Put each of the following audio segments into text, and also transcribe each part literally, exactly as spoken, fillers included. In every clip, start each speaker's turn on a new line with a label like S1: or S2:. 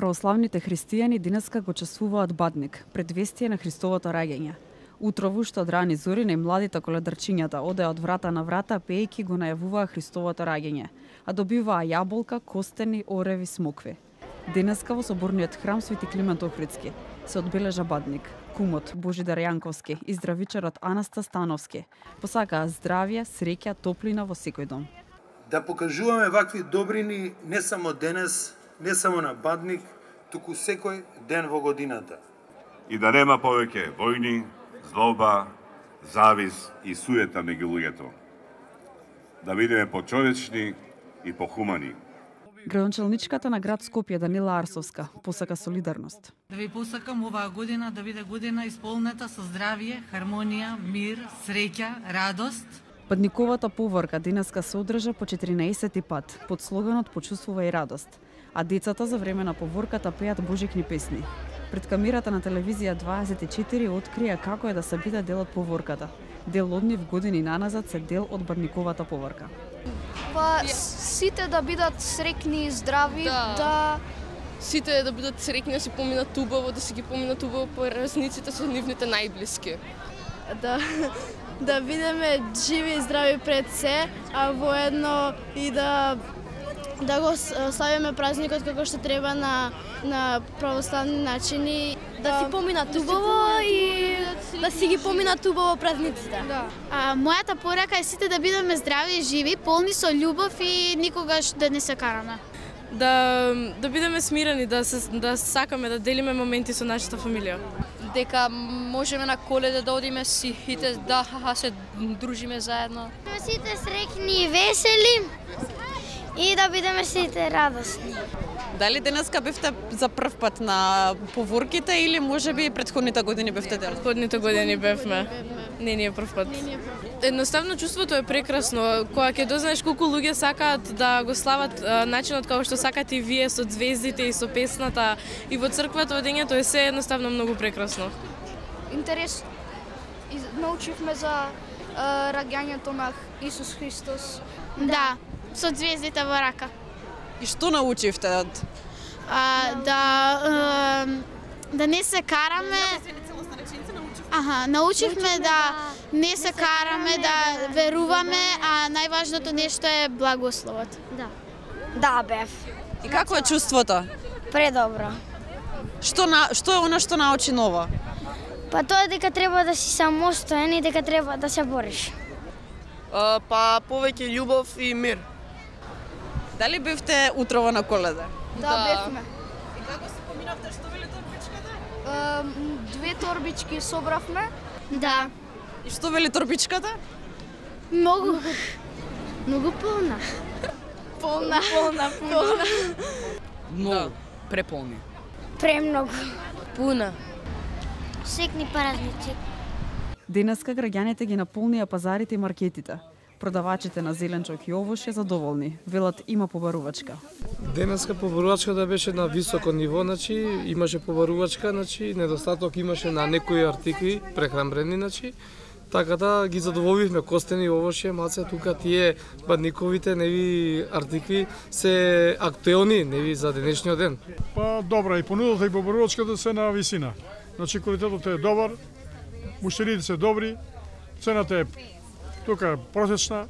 S1: Православните христијани денеска го чествуваат Бадник, предвестие на Христовото раѓање. Утрово што од рани зори најмладите коледарчињата одеа од врата на врата пеејќи го најавуваа Христовото раѓање, а добиваа јаболка, костени, ореви, смокви. Денеска во соборниот храм Свети Климент Охридски се одбележа Бадник. Кумот Божидар Јанковски и здравичарот Анаста Становски посакаа здравје, среќа, топлина во секој дом.
S2: Да покажуваме вакви добрини не само денес, не само на Бадник, туку секој ден во годината.
S3: И да нема повеќе војни, злоба, завис и суета меѓу луѓето. Да бидеме почовечни и похумани.
S1: Градоначелничката на град Скопје Данила Арсовска посака солидарност.
S4: Да ви посакам оваа година да биде година исполнета со здравје, хармонија, мир, среќа, радост.
S1: Бадниковата поворка денеска се одржа по четиринаесети пат под слоганот "Почувствувај радост", а децата за време на поворката пеат божикни песни. Пред камерата на телевизија дваесет и четири открија како е да се биде дел од поворката. Дел од нив години наназад се дел од Бадниковата поворка.
S5: Па сите да бидат среќни и здрави,
S6: да,
S5: да
S6: сите да бидат среќни, да си поминат убаво, да си ги поминат убаво празниците со нивните најблиски.
S7: Да да бидеме живи и здрави пред се, а воедно и да да го славиме празникот како што треба на на православни начини,
S5: да си поминат убаво и
S7: да си ги поминат убаво празниците.
S5: Да.
S8: А, мојата порака е сите да бидеме здрави и живи, полни со љубов и никогаш да не се караме.
S6: Да да бидеме смирени, да се да сакаме да делиме моменти со нашата фамилија.
S5: Дека можеме на Коледа да одиме сите, да се дружиме заедно.
S8: Сите среќни и весели и да бидеме сите радосни.
S9: Дали денеска бевте за прв пат на поворките или можеби претходните години бевте дел?
S6: Претходните години бевме. Не, не е прв пат. Едноставно чувството е прекрасно. Кога ќе дознаеш колку луѓе сакаат да го слават начинот како што сакате и вие со звездите и со песната и во црквата одењето е се едноставно многу прекрасно.
S5: Интерес научивме за раѓањето на Исус Христос.
S8: Да, со звездите во рака.
S9: И што научивте?
S8: А, да е, да не се караме. Аха, научивме да не се караме, да веруваме, а најважното нешто е благословот.
S5: Да. Да, бев.
S9: И како е чувството?
S5: Предобро.
S9: Што на што е она што научи ново?
S5: Па тоа дека треба да си самостоен и дека треба да се бориш.
S6: А, па повеќе љубов и мир.
S9: Дали бевте утрово на Коледа?
S5: Да, да, бевме.
S9: И како се поминавте, што вели торбичката?
S5: Uh, две торбички собравме.
S8: Да.
S9: И што вели торбичката?
S8: Многу. Многу полна.
S7: Полна. Полна, полна.
S9: Многу. Преполни.
S5: Премногу.
S6: Пуна.
S8: Секни празници.
S1: Денеска граѓаните ги наполнија пазарите и маркетите. Продавачите на зеленчок и овошје задоволни. Велат има побарувачка.
S10: Денеска побарувачката беше на високо ниво, значи имаше побарувачка, значи недостаток имаше на некои артикли прехранбрени, значи така да ги задоволивме костени овошје, маце тука тие бадниковите неви артикли се актуелни неви за денешниот ден.
S11: Па добра и понудата и побарувачката се на висина. Значи квалитетот е добар, муштерите се добри, цената е тука просечна.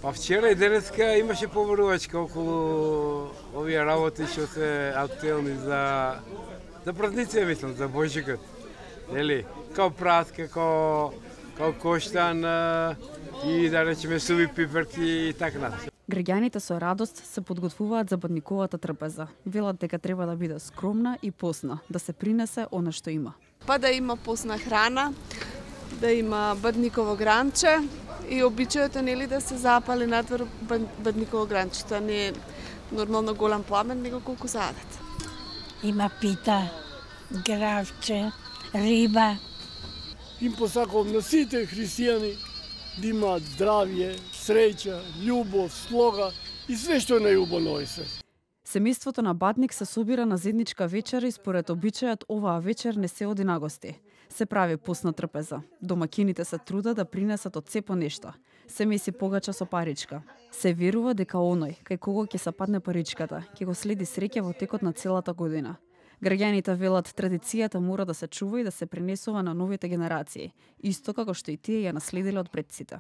S12: Па вчера и денеска имаше побарувачка околу овие работи што се актуелни за за празници, мислам, за Божикот. Нели? Као праска, као као коштан и да речеме суви пиперки и така натаму.
S1: Граѓаните со радост се подготвуваат за Бадниковата трпеза. Велат дека треба да биде скромна и посна, да се принесе она што има.
S7: Па да има посна храна, да има бадниково гранче и обичајот е нели да се запали надвор бадниково гранче. Тоа не е нормално голем пламен, него колку задат.
S13: Има пита, гравче, риба.
S14: Им посакувам на сите христијани да имаат здравје, среќа, љубов, слога и све што е најубаво на овој свет.
S1: Семејството на Бадник се собира на заедничка вечера и според обичајот оваа вечер не се оди на гости. Се прави постна трпеза. Домакините се трудат да принесат од се по нешто. Се меси погача со паричка. Се верува дека оној, кај кого ќе се падне паричката, ќе го следи среќа во текот на целата година. Граѓаните велат традицијата мора да се чува и да се пренесува на новите генерации, исто како што и тие ја наследиле од предците.